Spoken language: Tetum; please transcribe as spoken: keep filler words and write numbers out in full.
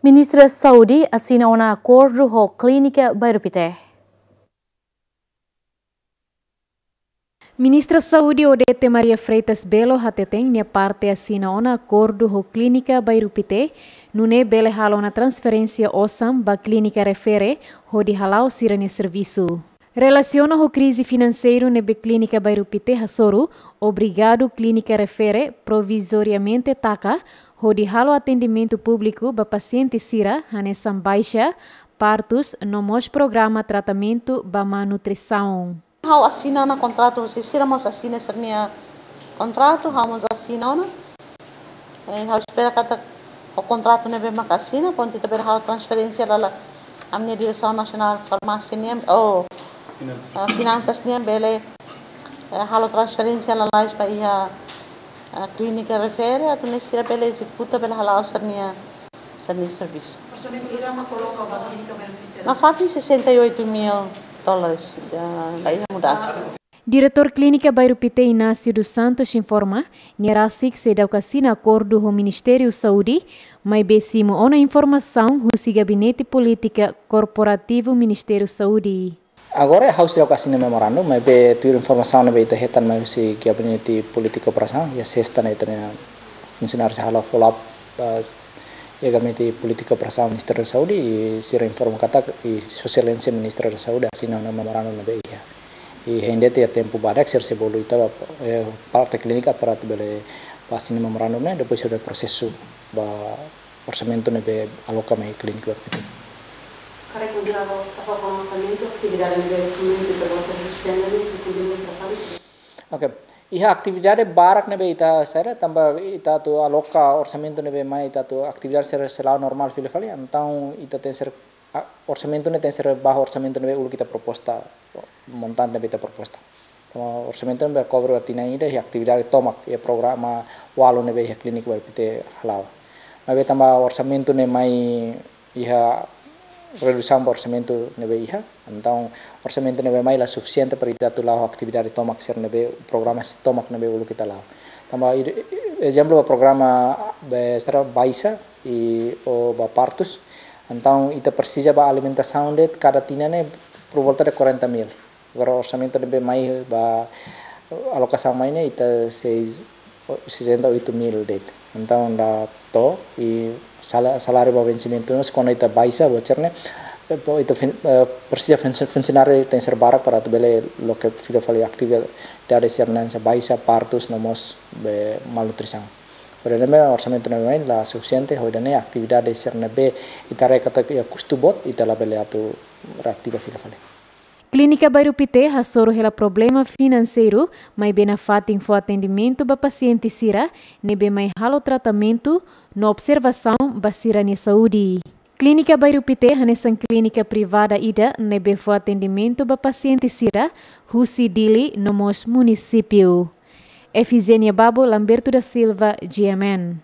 Ministra Saúde asina ona akordu ho Klínika Bairru Pité. Ministra Saúde Odete Maria Freitas Belo hateten nia parte asina ona akordu ho Klínika Bairru Pité, nune'e bele halo ona transferénsia osan ba klínika refere hodi hala'o sira-nia servisu. Relasiona ho krize finanseiru ne'ebé Klínika Bairru Pité hasoru, obrigadu klínika refere provizoriamente taka, hodi halo atendimentu públiku ba pasiente sira, hanesan baixa, partus, no mós programa tratamentu ba má nutrisaun. Ha'u asina ona kontratu, husi sira mós asina sira-nia kontratu, ha'u mós asina ona. Eh, ha'u espera katak ho kontratu ne'ebé mak asina, prontu ita bele halo transferénsia lala ami-nia Diresaun Nasionál Farmásia nian, oh, Finansas. Ah, finansas nian bele, eh, halo transferénsia lalais ba iha, ah, klínika refere, atu nune'e sira bele ezekuta, bele hala'o sira-nia, sira-nia servisu. Orsamentu hira mak koloka ba klínika Bairru Pité? Nafatin sessenta e oito mil dólares, ah, ba iha mudansa. Diretór Klínika Bairru Pité Inácio dos Santos informa, nia rasik seidauk asina akordu ho Ministériu Saúde, maibé simu ona informasaun husi Gabinete Polítika Korporativu Ministériu Saúde. Agora ha'u seidauk asina memorandu, maibé tuir informasaun ne'ebé ita hetan mai husi Gabinete Polítika Operasaun, iha sesta ne'e ita-nia funsionáriu sei halo follow up, eh, iha Gabinete Polítika Operasaun Ministériu Saúde, i sira informa katak i Sua Exelénsia Ministra da Saúde asina ona memorandu ne'ebé iha. I hein de'it iha tempu badak sira sei bolu ita ba, eh, parte klínika para atu bele ba asina memorandu ne'e, depois sira prosesu ba orsamentu ne'ebé aloka mai klínika Bairru Pité. Karik mudar ba, tapa ba orsamentu, atividade ne'ebé komunidade ita gosta de suspende, ne'e sei kontinua traballu? Ok. Iha atividade barak ne'ebé ita sera, tanba ita atu aloka orsamentu ne'ebé mai ita atu atividade sira sei la'o normál fila fali, entaun ita tenke ser, ah, orsamentu ne'e tenke ser ba orsamentu ne'ebé uluk ita proposta, montante ne'ebé ita proposta. Tanba orsamentu ne'e bele cover ba tinan ida iha atividade tomak, iha programa ualu ne'ebé iha klínika Bairru Pité hala'o. Maibé tanba orsamentu ne'e mai iha redusaun ba orsamentu ne'ebé iha. Entaun orsamentu ne'ebé mai la sufisiente para ita atu la'o atividade tomak sira ne'ebé, programa tomak ne'ebé uluk ita la'o. Tanba i-, ezemplu ba programa be sira baixa i ou ba partus. Entaun ita presiza ba alimentasaun de'it kada tinan ne'e por volta de quarenta mil. Agora orsamentu ne'ebé mai ba alokasaun mai ne'e ita sei sessenta e oito mil de'it. Entaun la to'o i sala-, saláriu ba vensimentu ne'e, se kuandu ita baixa voucher ne'e, eh, ita fin-, eh, presiza funsi-, funsionáriu tenke ser barak para atu bele loke fila fali atividade sira hanesan baixa, partus, no mós be malnutrisaun. Porém, ne'e orsamentu ne'ebé mai la sufisiente, hodi nune'e atividade sira ne'ebé ita haree katak iha kustu boot, ita labele atu reativa fila fali. Klínika Bairru Pité hasoru hela problema finanseiru, maibé nafatin fó atendimentu ba pasiente sira ne'ebé mai halo tratamentu no observasaun ba sira-nia saúde. Klínika Bairru Pité hanesan klínika privada ida ne'ebé fó atendimentu ba pasiente sira husi Dili no mós munisípiu. Efigénia Babo, Lamberto da Silva, G M N.